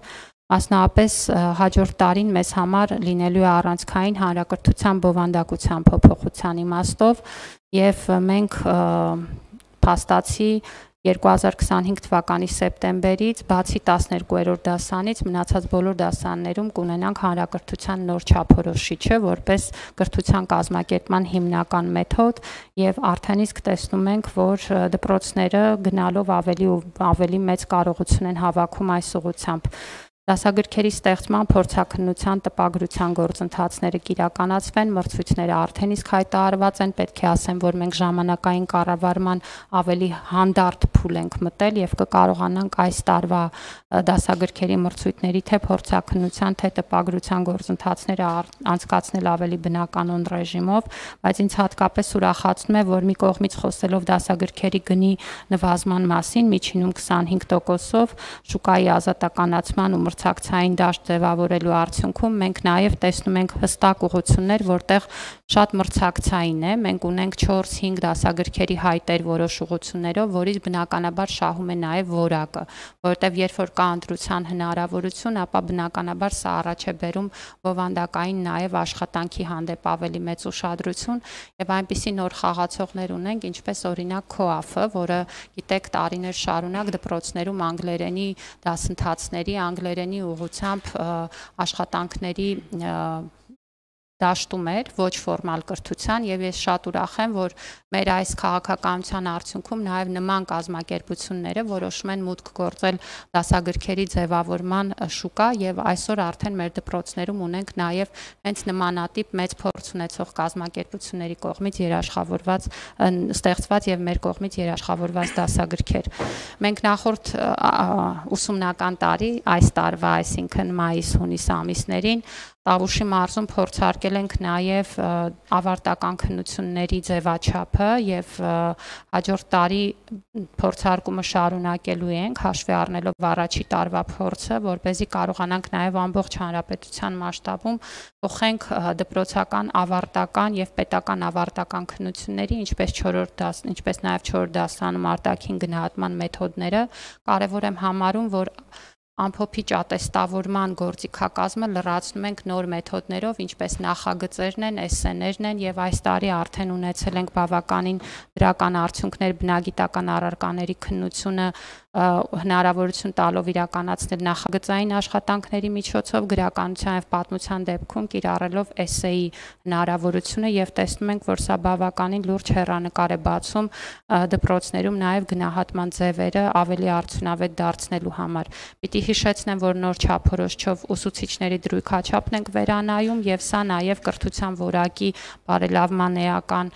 [SPEAKER 1] մասնավորապես հաջորդ տարին մեզ համար լինելու է առանցքային հանրակրթության բովանդակության փոփոխության իմաստով եւ մենք փաստացի 2025 թվականի սեպտեմբերից բացի 12-րդ դասանից մնացած բոլոր դասարաններում կունենանք հանրակրթության նոր չափորոշիչը որպես կրթության կազմակերպման հիմնական մեթոդ եւ արդեն իսկ տեսնում ենք, որ դպրոցները գնալով ավելի մեծ կարողություն են հավաքում այս ուղղությամբ։ Դասագրքերի ստեղծման, փորձաքննության, տպագրության գործընթացները կիրականացվեն, մրցույթները արդեն իսկ հայտարարված են, պետք է ասեմ, որ մենք ժամանակային կառավարման ավելի հանդարտ փուլ ենք մտել եւ կկարողանանք այս տարվա դասագրքերի մրցույթների թե փորձաքննության, թե տպագրության գործընթացները անցկացնել ավելի բնականon ռեժիմով, բայց ինձ հատկապես ուրախացնում է, որ մի կողմից խոսելով դասագրքերի գնի նվազման մասին, միջինում 25%-ով, շուկայի ազատականացման ու մրցակցային դաշտ ձևավորելու արդյունքում մենք նաև տեսնում ենք հստակ ուղղություններ, որտեղ շատ մրցակցային է, մենք ունենք 4-5 դասագրքերի հայտեր որոշ ուղղություններով, որից բնականաբար շահում է նաև որակը, որովհետև երբ որ կա ընտրության հնարավորություն, ապա բնականաբար սա առաջ է բերում բովանդակային նաև աշխատանքի հանդեպ ավելի մեծ ուշադրություն եւ այնպիսի նոր խաղացողներ ունենք, ինչպես օրինակ ՔՕԱՖ-ը, որը գիտեք տարիներ շարունակ դպրոցներում անգլերենի դասընթացների, անգլերենի ուղղությամբ աշխատանքների դաշտում էր ոչ ֆորմալ կրթության եւ ես շատ ուրախ եմ, որ մեր այս քաղաքականության արդյունքում նաեւ նման կազմակերպությունները որոշում են մուտք գործել դասագրքերի ձևավորման շուկա եւ այսօր արդեն մեր դպրոցներում ունենք նաեւ հենց նմանատիպ մեծ փորձ ունեցող կազմակերպությունների կողմից երաշխավորված ստեղծված եւ մեր կողմից երաշխավորված դասագրքեր։ Մենք նախորդ ուսումնական տարի այս տարվա, այսինքն մայիս-հունիս ամիսներին Տավուշի մարզում փորձարկել ենք նաև ավարտական քննությունների ձևաչափը եւ հաջորդ տարի փորձարկումը շարունակելու ենք հաշվի առնելով առաջի տարվա փորձը, որպեսզի կարողանանք նաև ամբողջ հանրապետության մասշտաբում փոխենք դպրոցական ավարտական եւ պետական ավարտական քննությունների, ինչպես նաև 4 դասարանում արտաքին գնահատման մեթոդները կարեւոր եմ համարում, որ ամփոփիչ ատեստավորման գործիքակազմը լրացնում ենք նոր մեթոդներով, ինչպես նախագծերն են, էսսեներն են եւ այս տարի արդեն ունեցել ենք բավականին դրական արդյունքներ բնագիտական առարկաների քննությունը հնարավորություն տալով իրականացնել նախագծային աշխատանքների միջոցով գրականության եւ պատմության դեպքում կիրառելով էսսեի հնարավորությունը եւ տեսնում ենք, որ սա բավականին լուրջ հեռանկար է բացում դպրոցներում նաեւ գնահատման ձևերը ավելի արդյունավետ դարձնելու համար։ Պիտի հիշեցնեմ, որ նոր չափորոշիչով ուսուցիչների դրույքաչափն ենք վերանայում եւ սա նաեւ կրթության որակի բարելավման էական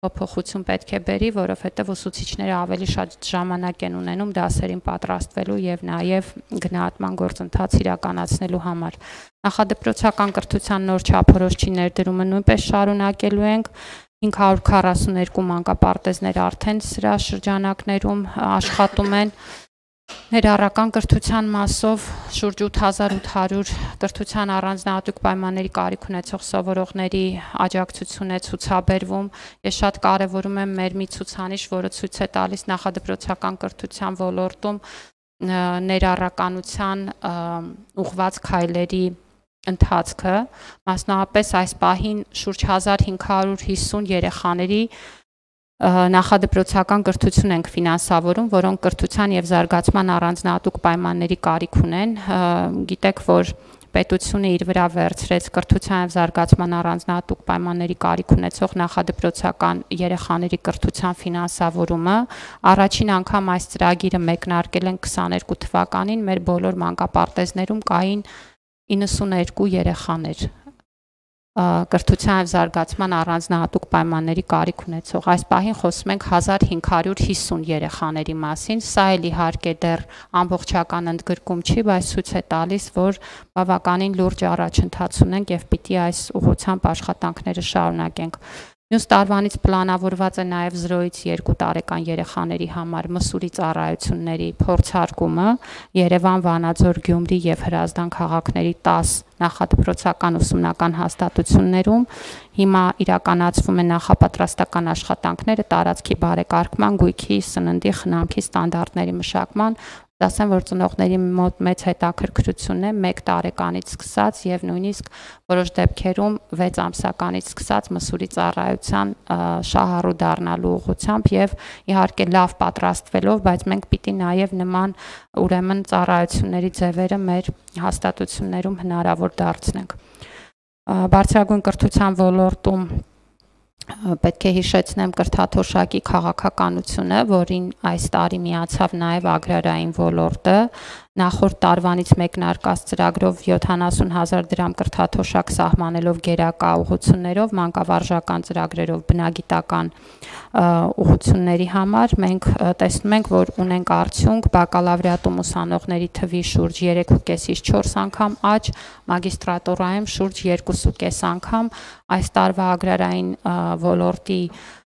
[SPEAKER 1] փոփոխություն պետք է բերի, որովհետև ուսուցիչները ավելի շատ ժամանակ են ունենում դասերին պատրաստվելու եւ նաեւ գնահատման գործընթաց իրականացնելու համար։ Նախադպրոցական կրթության նոր չափորոշիչի ներդրումը նույնպես շարունակելու ենք 542 մանկապարտեզներ արդեն սրա շրջանակներում աշխատում են։ Ներառական կրթության մասով շուրջ 8800 կրթության առանձնահատուկ պայմանների կարիք ունեցող սովորողների աջակցություն է ցուցաբերվում։ Ես շատ կարևորում եմ մեր մի ցուցանիշ, որը ցույց է տալիս նախադպրոցական կրթության ոլորտում ներառականության ուղղված քայլերի ընթացքը, մասնավորապես այս պահին շուրջ 1550 երեխաների նախադպրոցական կրթություն ենք ֆինանսավորում, որոնք կրթության եւ զարգացման առանձնահատուկ պայմանների կարիք ունեն։ Գիտեք, որ պետությունը իր վրա վերցրեց կրթության եւ զարգացման առանձնահատուկ պայմանների կարիք ունեցող նախադպրոցական երեխաների կրթության ֆինանսավորումը։ Առաջին անգամ այս ծրագիրը մեկնարկել են 22 թվականին մեր բոլոր մանկապարտեզներում կային 92 երեխաներ։ կրթության եւ զարգացման առանձնահատուկ պայմանների կարիք ունեցող։ Այս պահին խոսում ենք 1550 երեխաների մասին։ Սա էլ իհարկե դեռ ամբողջական ընդգրկում չի, բայց ցույց է տալիս, որ բավականին լուրջ առաջընթաց ունենք եւ պիտի այս ուղղությամբ աշխատանքները շարունակենք։ Մյուս տարվանից պլանավորված է նաև 0-ից 2 տարեկան երեխաների համար մսուրի ծառայությունների փորձարկումը Երևան, Վանաձոր, Գյումրի եւ Հրազդան քաղաքների 10 նախադպրոցական ուսումնական հաստատություններում հիմա իրականացվում են նախապատրաստական աշխատանքները տարածքի բարեկարգման, գույքի, սննդի, խնամքի ստանդարտների մշակման, ասեմ, որ ծնողների մոտ մեծ հետաքրքրություն է 1 տարեկանից սկսած եւ նույնիսկ որոշ դեպքերում 6 ամսականից սկսած մսուրի ծառայության շահառու դառնալու ուղղությամբ եւ իհարկե լավ պատրաստվելով, բայց մենք պիտի նաեւ նման ուրեմն ծառայությունների ձևերը մեր հաստատություններում հնարավոր դարձնենք։ Բարձրագույն կրթության ոլորտում պետք է հիշեցնեմ կրթաթոշակի քաղաքականությունը, որին այս տարի միացավ նաև agrarային ոլորտը, նախորդ տարվանից մեկնարկած ծրագրով 70,000 դրամ կրթաթոշակ սահմանելով գերակա ուղղություններով, մանկավարժական ծրագրերով, բնագիտական ուղղությունների համար մենք տեսնում ենք, որ ունենք արդյունք բակալավրիատում ուսանողների թվի շուրջ 3.5-ից 4 անգամ աճ, մագիստրատուրայում շուրջ 2.5 անգամ, այս տարվա agrarային ոլորտի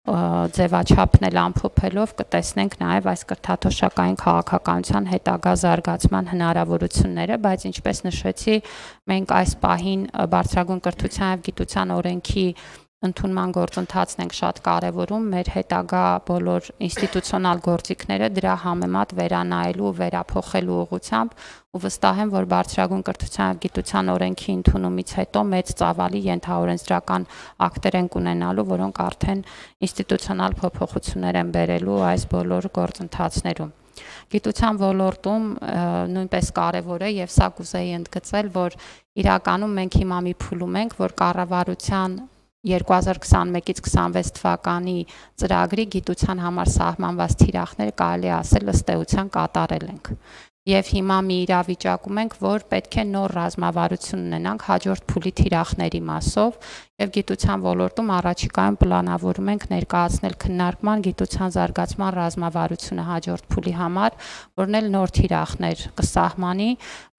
[SPEAKER 1] ձևաչափն էլ ամփոփելով կտեսնենք նաև այս կրթաթոշակային քաղաքականության հետագա զարգացման հնարավորությունները, բայց ինչպես նշեցի, մենք այս պահին բարձրագույն կրթության եւ գիտության օրենքի ընդունման գործընթացն ենք շատ կարևորում, մեր հետագա բոլոր ինստիտուցիոնալ գործիքները դրա համեմատ վերանայելու ու վերափոխելու ուղղությամբ ու վստահ եմ, որ բարձրագույն կրթության եւ գիտության օրենքի ընդունումից հետո մեծ ծավալի ենթաօրենսդրական ակտեր են ունենալու, որոնք արդեն ինստիտուցիոնալ փոփոխություններ են բերելու այս բոլոր գործընթացներում։ Գիտության ոլորտում նույնպես կարևոր է եւ սա կուզեի ընդգծել, որ իրականում մենք հիմա մի փուլում ենք, որ կառավարության 2021-ից 26 թվականի ծրագրի գիտության համար սահմանված թիրախները կարելի է ասել ըստ էության կատարել ենք։ Եվ հիմա մի իրավիճակում ենք, որ պետք է նոր ռազմավարություն ունենանք հաջորդ փուլի թիրախների մասով եւ գիտության ոլորտում առաջիկայում պլանավորում ենք ներկայացնել քննարկման գիտության զարգացման ռազմավարությունը հաջորդ փուլի համար, որն էլ նոր թիրախներ կսահմանի,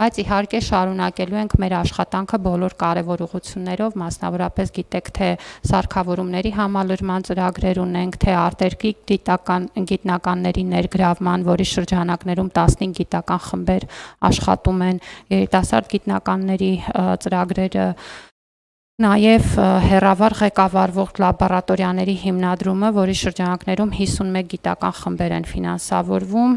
[SPEAKER 1] բայց իհարկե շարունակելու ենք մեր աշխատանքը բոլոր կարևոր ուղղություններով, մասնավորապես գիտեք, թե սարքավորումների համալրման ծրագրեր ունենք, թե արտերկրի գիտնականների ներգրավման, որի շրջանակներում 15 գիտական խմբեր աշխատում են, երիտասարդ գիտնականների ծրագրերը, նաև հեռավար ղեկավարվող լաբորատորիաների հիմնադրումը, որի շրջանակներում 51 գիտական խմբեր են ֆինանսավորվում,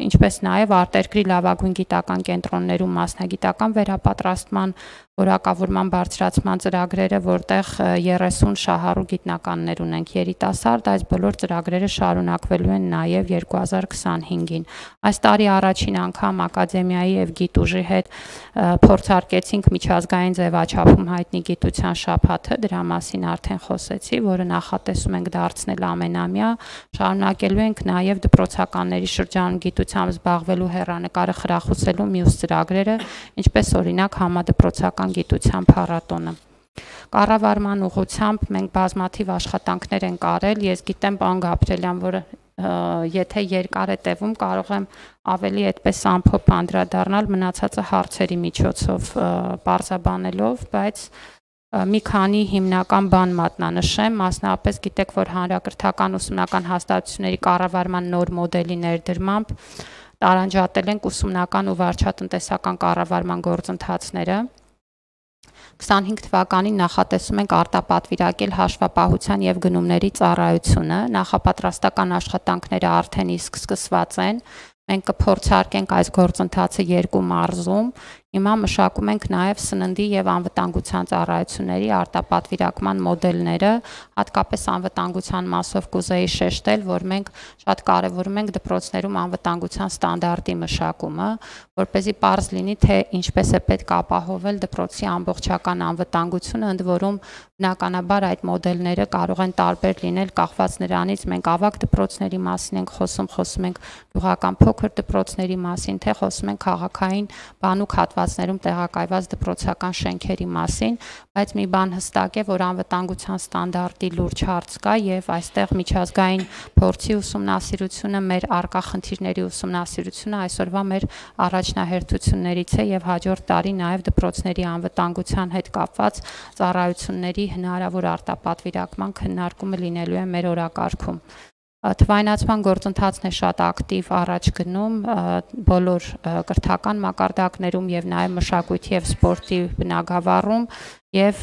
[SPEAKER 1] ինչպես նաև արտերկրի լավագույն գիտական կենտրոններում մասնագիտական վերապատրաստման որակավորման բարձրացման ծրագրերը, որտեղ 30 շահառու գիտնականներ ունենք երիտասարդ, այս բոլոր ծրագրերը շարունակվելու են նաև 2025-ին։ Այս տարի առաջին անգամ ակադեմիայի եւ գիտուժի հետ փորձարկեցինք միջազգային ձևաչափում հայտնի գիտության շաբաթը, դրա մասին արդեն խոսեցի, որը նախատեսում ենք դարձնել ամենամյա, շարունակելու ենք նաև դպրոցականների շրջանում գիտությամբ զբաղվելու հեռանկարը խրախուսելու մյուս ծրագրերը, ինչպես օրինակ համադպրոցական գիտության փառատոնը։ Կառավարման ուղղությամբ մենք բազմաթիվ աշխատանքներ ենք արել, ես գիտեմ պարոն Գաբրելյան, որ եթե երկար է տևում, կարող եմ ավելի այդպես ամփոփ անդրադառնալ մնացածը հարցերի միջոցով պարզաբանելով, բայց մի քանի հիմնական բան մատնանշեմ, մասնավորապես գիտեք, որ հանրակրթական ուսումնական հաստատությունների կառավարման նոր մոդելի ներդրմամբ տարանջատել ենք ուսումնական ու վարչատնտեսական կառավարման գործընթացները։ 25 թվականին նախատեսում ենք արտապատվիրակել հաշվապահության եւ գնումների ծառայությունը, նախապատրաստական աշխատանքները արդեն իսկ սկսված են, մենք կփորձարկենք այս գործընթացը 2 մարզում, հիմա մշակում ենք նաև սննդի եւ անվտանգության ծառայությունների արտապատվիրակման մոդելները, հատկապես անվտանգության մասով կուզեի շեշտել, որ մենք շատ կարևորում ենք դպրոցներում անվտանգության ստանդարտի մշակումը, որպեսզի պարզ լինի, թե ինչպես է պետք ապահովել դպրոցի ամբողջական անվտանգությունը, ընդ որում բնականաբար այդ մոդելները կարող են տարբեր լինել կախված նրանից, մենք ավագ դպրոցների մասին ենք խոսում ենք գյուղական փոքր դպրոցների մասին, թե խոսում ենք քաղաքային բանուկ հատված հատվածներում տեղակայված դպրոցական շենքերի մասին, բայց մի բան հստակ է, որ անվտանգության ստանդարտի լուրջ հարց կա եւ այստեղ միջազգային փորձի ուսումնասիրությունը, մեր առկա խնդիրների ուսումնասիրությունը այսօրվա մեր առաջնահերթություններից է եւ հաջորդ տարի նաեւ դպրոցների անվտանգության հետ կապված ծառայությունների հնարավոր արտապատվիրակման քննարկումը լինելու է մեր օրակարգում։ Թվայնացման գործընթացն է շատ ակտիվ առաջ գնում բոլոր կրթական մակարդակներում եւ նաեւ մշակույթի եւ սպորտի բնագավառում եւ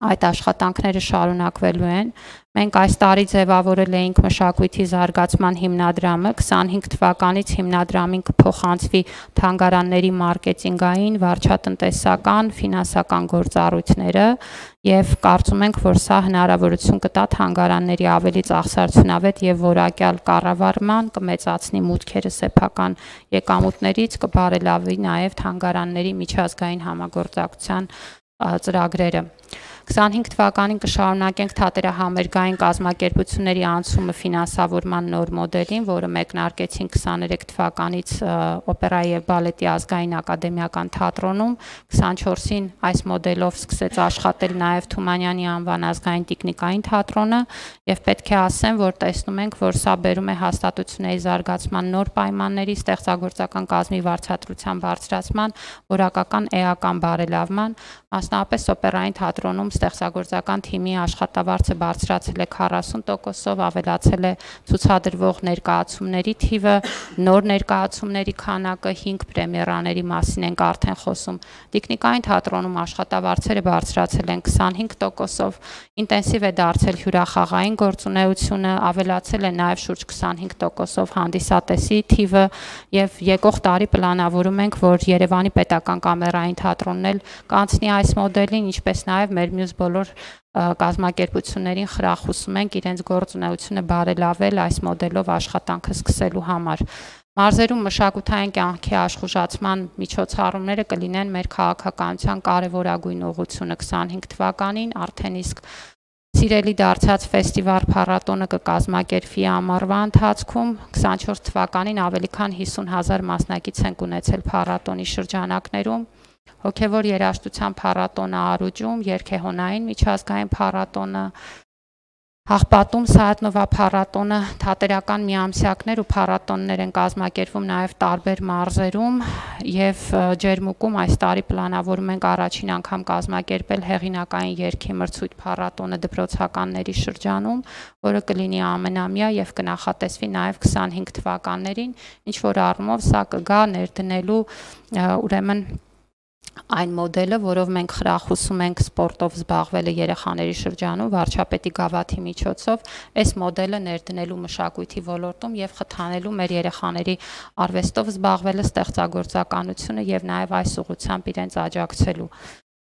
[SPEAKER 1] այդ աշխատանքները շարունակվելու են։ Մենք այս տարի ձևավորել էինք մշակույթի զարգացման հիմնադրամը, 25 թվականից հիմնադրամին կփոխանցվի թանգարանների մարքեթինգային, վարչատնտեսական, ֆինանսական գործառույթները եւ կարծում ենք, որ սա հնարավորություն կտա թանգարանների ավելի ծախսարդյունավետ եւ որակյալ կառավարման, կմեծացնի մուտքերը սեփական եկամուտներից, կբարելավի նաեւ թանգարանների միջազգային համագործակցության ծրագրերը։ 25 թվականին կշարունակենք թատերահամերգային կազմակերպությունների անցումը ֆինանսավորման նոր մոդելին, որը մեկնարկեցին 23 թվականից օպերայի եւ բալետի ազգային ակադեմիական թատրոնում, 24-ին այս մոդելով սկսեց աշխատել նաեւ Թումանյանի անվան ազգային տիկնիկային թատրոնը եւ պետք է ասեմ, որ տեսնում ենք, որ սա բերում է հաստատությունների զարգացման նոր պայմանների, ստեղծագործական կազմի վարձատրության բարձրացման, որակական էական բարելավման, մասնավորապես օպերային թատրոնում ստեղծագործական թիմի աշխատավարձը բարձրացել է 40%-ով, ավելացել է ցուցադրվող ներկայացումների թիվը, նոր ներկայացումների քանակը, 5 պրեմիերաների մասին ենք արդեն խոսում։ Տիկնիկային թատրոնում աշխատավարձերը բարձրացել են 25%-ով, ինտենսիվ է դարձել հյուրախաղային գործունեությունը, ավելացել է նաև շուրջ 25%-ով հանդիսատեսի թիվը եւ եկող տարի պլանավորում ենք, որ Երևանի պետական կամերային թատրոնն էլ կանցնի այս մոդելին, ինչպես նաև մեր մյուս բոլոր կազմակերպություններին խրախուսում ենք իրենց գործունեությունը բարելավել այս մոդելով աշխատանքը սկսելու համար։ Մարզերում մշակութային կյանքի աշխուժացման միջոցառումները կլինեն մեր քաղաքականության կարևորագույն ուղղությունը 25 թվականին, արդեն իսկ սիրելի դարձած ֆեստիվալ փառատոնը կկազմակերպվի ամառվա ընթացքում, 24 թվականին ավելի քան 50,000 մասնակից են ունեցել փառատոնի շրջանակներում, հոգևոր երաժշտության փառատոնը Արուջում, երգեհոնային միջազգային փառատոնը Հաղպատում, Սայաթնովա փառատոնը, թատերական միամսյակներ ու փառատոններ են կազմակերպվում նաև տարբեր մարզերում եւ Ջերմուկում այս տարի պլանավորում ենք առաջին անգամ կազմակերպել հեղինակային երգի մրցույթ փառատոնը դպրոցականների շրջանում, որը կլինի ամենամյա եւ կնախատեսվի նաև 25 թվականներին, ինչ որ առումով սա կգա ներդնելու ուրեմն այն մոդելը, որով մենք խրախուսում ենք սպորտով զբաղվելը երեխաների շրջանում, վարչապետի գավաթի միջոցով, այս մոդելը ներդնելու մշակույթի ոլորտում եւ խթանելու մեր երեխաների արվեստով զբաղվելը, ստեղծագործականությունը եւ նաեւ այս ուղղությամբ իրենց աջակցելու։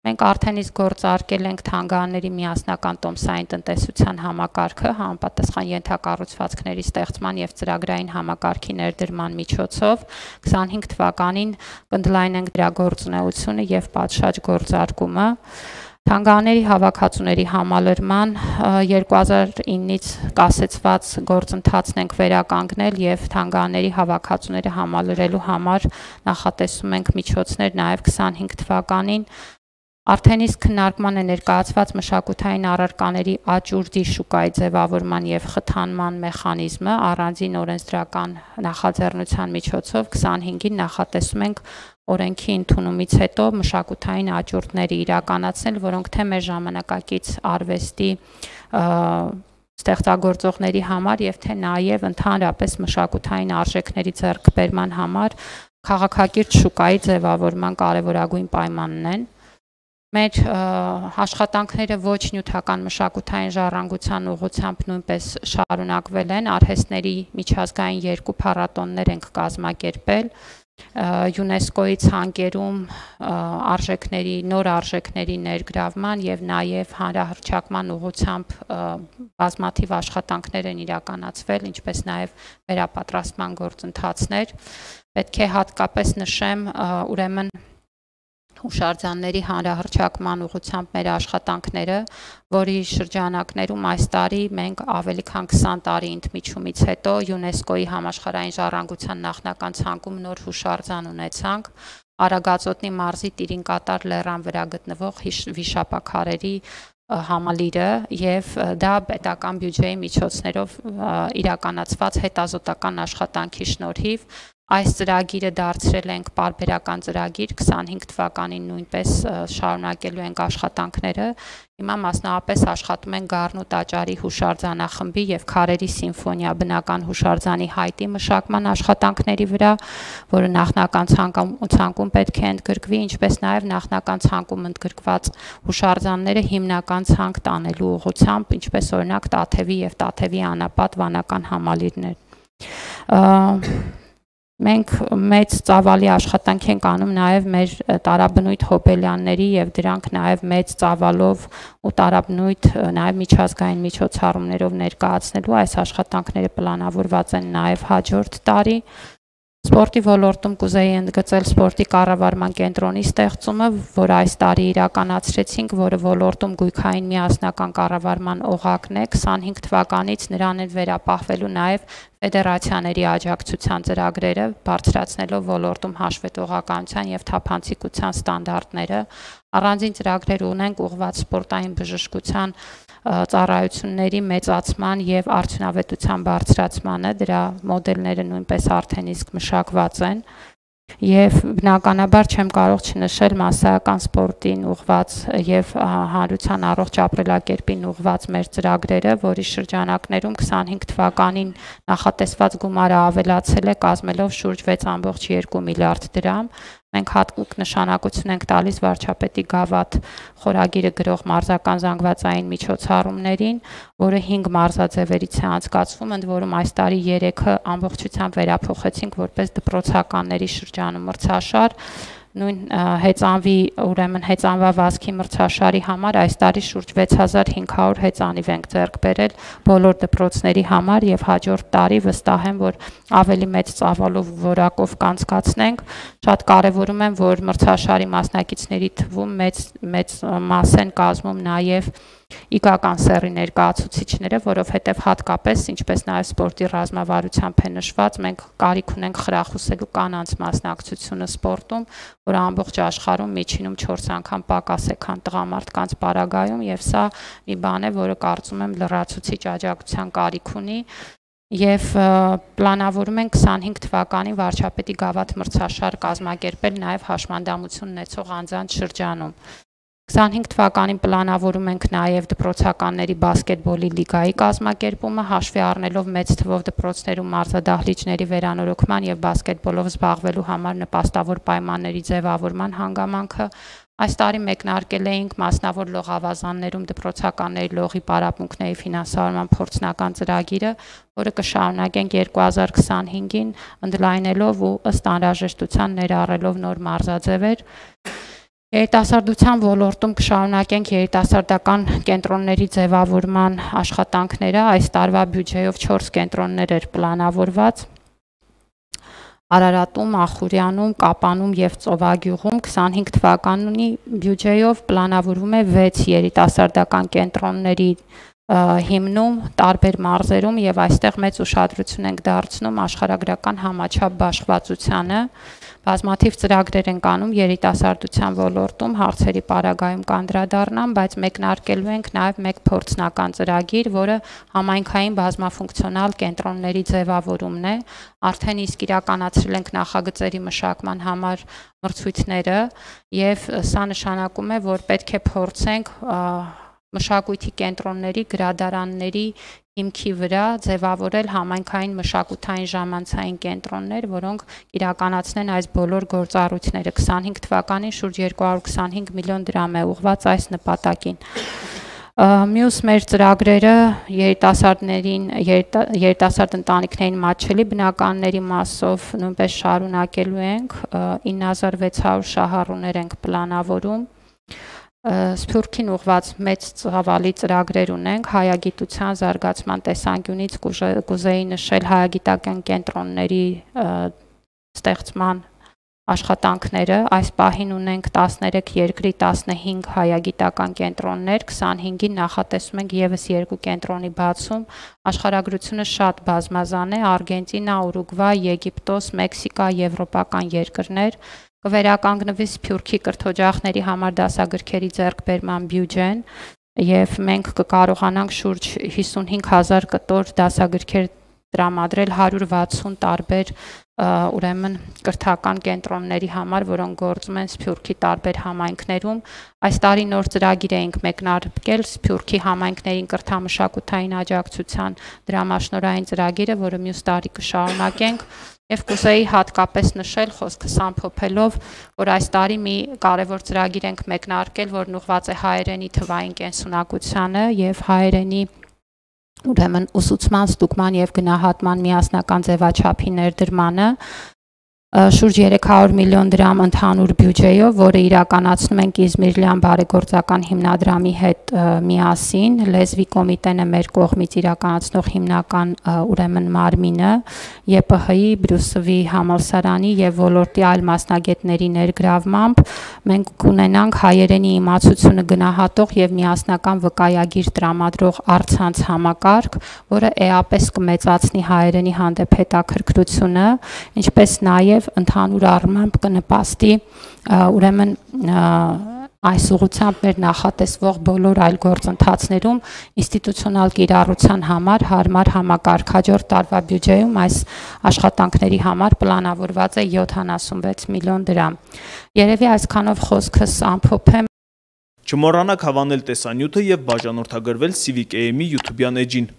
[SPEAKER 1] Մենք արդեն իսկ գործարկել ենք թանգարանների միասնական տոմսային տնտեսության համակարգը, համապատասխան ենթակառուցվածքների ստեղծման եւ ծրագրային համակարգի ներդրման միջոցով 25 թվականին կընդլայնենք դրա գործունեությունը եւ պատշաճ գործարկումը։ Թանգարանների հավաքածուների համալրման 2009-ից կասեցված գործընթացն ենք վերականգնել եւ թանգարանների հավաքածուները համալրելու համար նախատեսում ենք միջոցներ նաեւ 25 թվականին Արդեն իսկ քննարկման է ներկայացված մշակութային առարկաների աճուրդի շուկայի ձևավորման եւ խթանման մեխանիզմը առանձին օրենսդրական նախաձեռնության միջոցով 25-ին նախատեսում ենք օրենքի ընդունումից հետո մշակութային աճուրդների իրականացնել, որոնք թե մեր ժամանակակից արվեստի ստեղծագործողների համար եւ թե նաեւ ընդհանրապես մշակութային արժեքների ձեռքբերման համար քաղաքակիրթ շուկայի ձևավորման կարևորագույն պայմանն են։ Մեր աշխատանքները ոչ նյութական մշակութային ժառանգության ուղղությամբ նույնպես շարունակվել են, արհեստների միջազգային 2 փառատոններ ենք կազմակերպել, ՅՈՒՆԵՍԿՕ-ի ցանկերում նոր արժեքների ներգրավման եւ նաեւ հանրահռչակման ուղղությամբ բազմաթիվ աշխատանքներ են իրականացվել, ինչպես նաեւ վերապատրաստման գործընթացներ։ Պետք է հատկապես նշեմ, ուրեմն հուշարձանների հանրահռչակման ուղղությամբ մեր աշխատանքները, որի շրջանակներում այս տարի մենք ավելի քան 20 տարի ընդմիջումից հետո ՅՈՒՆԵՍԿՕ-ի համաշխարհային ժառանգության նախնական ցանկում նոր հուշարձան ունեցանք, Արագածոտնի մարզի Տիրինկատար լեռան վրա գտնվող վիշապաքարերի համալիրը եւ դա պետական բյուջեի միջոցներով իրականացված հետազոտական աշխատանքի շնորհիվ այս ծրագիրը դարձրել ենք պարբերական ծրագիր 25 թվականին նույնպես շարունակելու ենք աշխատանքները հիմա մասնավորապես աշխատում ենք Գառնու տաճարի հուշարձանախմբի եւ Քարերի սիմֆոնիա բնական հուշարձանի հայտի մշակման աշխատանքների վրա, որը նախնական ցանկում պետք է ընդգրկվի, ինչպես նաեւ նախնական ցանկում ընդգրկված հուշարձանները հիմնական ցանկ տանելու ուղղությամբ, ինչպես օրինակ Տաթևի եւ Տաթևի անապատ վանական համալիրներ։ Մենք մեծ ծավալի աշխատանք ենք անում նաև մեր տարաբնույթ հոբելյանների եւ դրանք նաև մեծ ծավալով ու տարաբնույթ նաև միջազգային միջոցառումներով ներկայացնելու այս աշխատանքները պլանավորված են նաև հաջորդ տարի։ Սպորտի ոլորտում կուզեի ընդգծել սպորտի կառավարման կենտրոնի ստեղծումը, որ այս տարի իրականացրեցինք, որը ոլորտում գույքային միասնական կառավարման օղակն է, 25 թվականից նրան է վերապահվելու նաև ֆեդերացիաների աջակցության ծրագրերը, բարձրացնելով ոլորտում հաշվետվողականության եւ թափանցիկության ստանդարտները, առանձին ծրագրեր ունենք ուղղված սպորտային բժշկության ծառայությունների մեծացման եւ արդյունավետության բարձրացմանը, դրա մոդելները նույնպես արդեն իսկ մշակված են եւ բնականաբար չեմ կարող չնշել մասսայական սպորտին ուղղված եւ հանրության առողջ ապրելակերպին ուղղված մեր ծրագրերը, որի շրջանակներում 25 թվականին նախատեսված գումարը ավելացել է, կազմելով շուրջ 6.2 միլիարդ դրամ։ Մենք հատուկ նշանակություն ենք տալիս վարչապետի գավաթ խորագիրը գրող մարզական զանգվածային միջոցառումներին, որը 5 մարզաձևերից է անցկացվում, ընդ որում այս տարի 3-ը ամբողջությամբ վերափոխեցինք որպես դպրոցականների շրջանում մրցաշար, նույն հեծանվի, ուրեմն հեծանվա վազքի մրցաշարի համար այս տարի շուրջ 6500 հեծանիվ ենք ձեռք բերել բոլոր դպրոցների համար եւ հաջորդ տարի վստահ եմ, որ ավելի մեծ ծավալով որակով կանցկացնենք։ Շատ կարևորում եմ, որ մրցաշարի մասնակիցների թվում մեծ մաս են կազմում նաեւ իգական սեռի ներկայացուցիչները, որովհետև հատկապես, ինչպես նաև սպորտի ռազմավարությամբ է նշված, մենք կարիք ունենք խրախուսելու կանանց մասնակցությունը սպորտում, որը ամբողջ աշխարհում միջինում 4 անգամ պակաս է, քան տղամարդկանց պարագայում, եւ սա մի բան է, որը կարծում եմ լրացուցիչ աջակցության կարիք ունի։ Եվ պլանավորում ենք 25 թվականին վարչապետի գավաթ մրցաշար կազմակերպել նաև հաշմանդամություն ունեցող անձանց շրջանում։ 25 թվականին պլանավորում ենք նաև դպրոցականների բասկետբոլի լիգայի կազմակերպումը, հաշվի առնելով մեծ թվով դպրոցներում մարզադահլիճների վերանորոգման եւ բասկետբոլով զբաղվելու համար նպաստավոր պայմանների ձևավորման հանգամանքը։ Այս տարի մեկնարկել էինք մասնավոր լողավազաններում դպրոցականների լողի պարապմունքների ֆինանսավորման փորձնական ծրագիրը, որը կշարունակենք 2025-ին, ընդլայնելով ու ըստ անհրաժեշտության ներառելով նոր մարզաձևեր։ Երիտասարդության ոլորտում կշարունակենք երիտասարդական կենտրոնների ձևավորման աշխատանքները, այս տարվա բյուջեով 4 կենտրոններ էր պլանավորված։ Արարատում, Ախուրյանում, Կապանում եւ Ծովագյուղում 25 թվականի բյուջեով պլանավորվում է 6 երիտասարդական կենտրոնների հիմնում տարբեր մարզերում եւ այստեղ մեծ ուշադրություն ենք դարձնում աշխարհագրական համաչափ բաշխվածությանը, բազմաթիվ ծրագրեր ենք անում երիտասարդության ոլորտում, հարցերի պարագայում կանդրադառնամ, բայց մեկնարկելու ենք նաեւ մեկ փորձնական ծրագիր, որը համայնքային բազմաֆունկցիոնալ կենտրոնների ձևավորումն է, արդեն իսկ իրականացրել ենք նախագծերի մշակման համար մրցույթները եւ սա նշանակում է, որ պետք է փորձենք մշակույթի կենտրոնների, գրադարանների հիմքի վրա ձևավորել համայնքային մշակութային ժամանցային կենտրոններ, որոնք իրականացնեն այս բոլոր գործառույթները։ 25 թվականին շուրջ 225 միլիոն դրամ է ուղղված այս նպատակին։ Մյուս մեր ծրագրերը երիտասարդ ընտանիքներին մատչելի բնականների մասով նույնպես շարունակելու ենք, 9600 շահառուներ ենք պլանավորում։ Սփյուռքին ուղղված մեծ ծավալի ծրագրեր ունենք, հայագիտության զարգացման տեսանկյունից կուզեի նշել հայագիտական կենտրոնների ստեղծման աշխատանքները, այս պահին ունենք 13 երկրի 15 հայագիտական կենտրոններ, 25-ին նախատեսում ենք եւս 2 կենտրոնի բացում, աշխարհագրությունը շատ բազմազան է, Արգենտինա, Ուրուգվայ, Եգիպտոս, Մեքսիկա, եվրոպական երկրներ, կվերականգնվի Սփյուռքի կրթօջախների համար դասագրքերի ձեռքբերման բյուջեն եւ մենք կկարողանանք շուրջ 55,000 կտոր դասագրքեր տրամադրել 160 տարբեր ուրեմն կրթական կենտրոնների համար, որոնք գործում են Սփյուռքի տարբեր համայնքներում։ Այս տարի նոր ծրագիր էինք մեկնարկել Սփյուռքի համայնքներին կրթամշակութային աջակցության դրամաշնորհային ծրագիրը, որը մյուս տարի կշարունակենք, եւ կուզեի հատկապես նշել խոսքս ամփոփելով, որ այս տարի մի կարևոր ծրագիր ենք մեկնարկել, որն ուղղված է հայերենի թվային կենսունակությանը եւ հայերենի ուրեմն ուսուցման, ստուգման եւ գնահատման միասնական ձևաչափի ներդրմանը շուրջ 300 միլիոն դրամ ընդհանուր բյուջեով, որը իրականացնում ենք Իզմիրլյան բարեգործական հիմնադրամի հետ միասին, լեզվի կոմիտեն է մեր կողմից իրականացնող հիմնական ուրեմն մարմինը, ԵՊՀ-ի, Բրյուսովի համալսարանի եւ ոլորտի այլ մասնագետների ներգրավմամբ մենք կունենանք հայերենի իմացությունը գնահատող եւ միասնական վկայագիր տրամադրող առցանց համակարգ, որը էապես կմեծացնի հայերենի հանդեպ հետաքրքրությունը, ինչպես նաեւ ընդհանուր առմամբ կնպաստի ուրեմն այս ուղղությամբ մեր նախատեսվող բոլոր այլ գործընթացներում ինստիտուցիոնալ կիրառության համար հարմար համակարգ հաջորդ տարվա բյուջեում այս աշխատանքների համար պլանավորված է 76 միլիոն դրամ։ Երևի այսքանով խոսքս ամփոփեմ։
[SPEAKER 2] Չմոռանաք հավանել տեսանյութը եւ բաժանորդագրվել Civic AM-ի YouTube-յան էջին։